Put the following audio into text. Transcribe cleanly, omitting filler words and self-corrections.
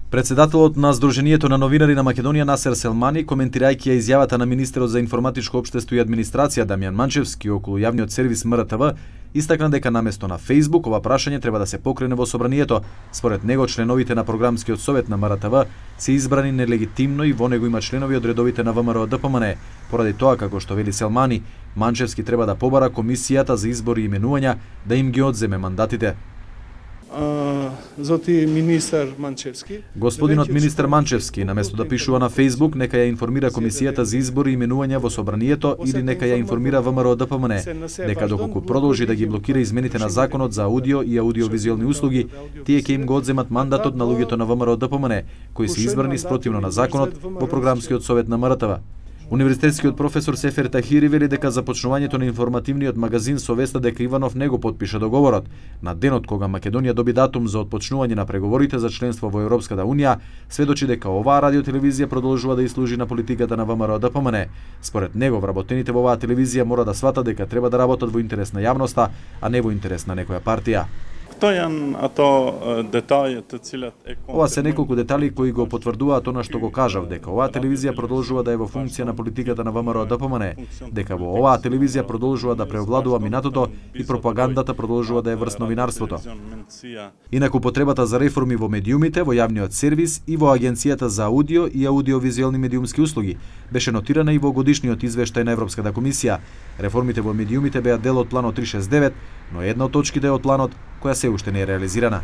Председателот на Сдруженијето на новинари на Македонија Насер Селмани, коментирајќи ја изјавата на министерот за информатичко општество и администрација Дамјан Манчевски околу јавниот сервис МРТВ, истакна дека наместо на Facebook ова прашање треба да се покрене во собранието. Според него, членовите на програмскиот совет на МРТВ се избрани нелегитимно и во него има членови од редовите на ВМРО ДПМН. Поради тоа, како што вели Селмани, Манчевски треба да побара комисијата за избори и именувања да им ги одземе мандатите. Господинот министер Манчевски, наместо да пишува на Facebook, нека ја информира комисијата за избори и именувања во собранието или нека ја информира ВМРО ДПМН, дека доколку продолжи да ги блокира измените на законот за аудио и аудиовизуелни услуги, тие ќе им го одземат мандатот на луѓето на ВМРО ДПМН, кои се избрани спротивно на законот во програмскиот совет на МРТВ. Универзитетскиот професор Сефер Тахири вели дека започнувањето на информативниот магазин со веста дека Иванов не го потпиша договорот на денот кога Македонија доби датум за отпочнување на преговорите за членство во Европската унија, сведочи дека оваа радиотелевизија продолжува да служи на политиката на ВМРО ДПМН. Според него, вработените во оваа телевизија мора да сватат дека треба да работат во интерес на јавноста, а не во интерес на некоја партија. Ова се неколку детали кои го потврдуваат она што го кажав, дека оваа телевизија продолжува да е во функција на политиката на ВМРО ДПМН, дека во оваа телевизија продолжува да преовладува минатото и пропагандата продолжува да е врз новинарството. Инаку потребата за реформи во медиумите, во јавниот сервис и во Агенцијата за аудио и аудиовизуелни медиумски услуги беше нотирана и во годишниот извештај на Европската комисија. Реформите во медиумите беа дел од планот 369, но една од точките од планот која се уште не е реализирана.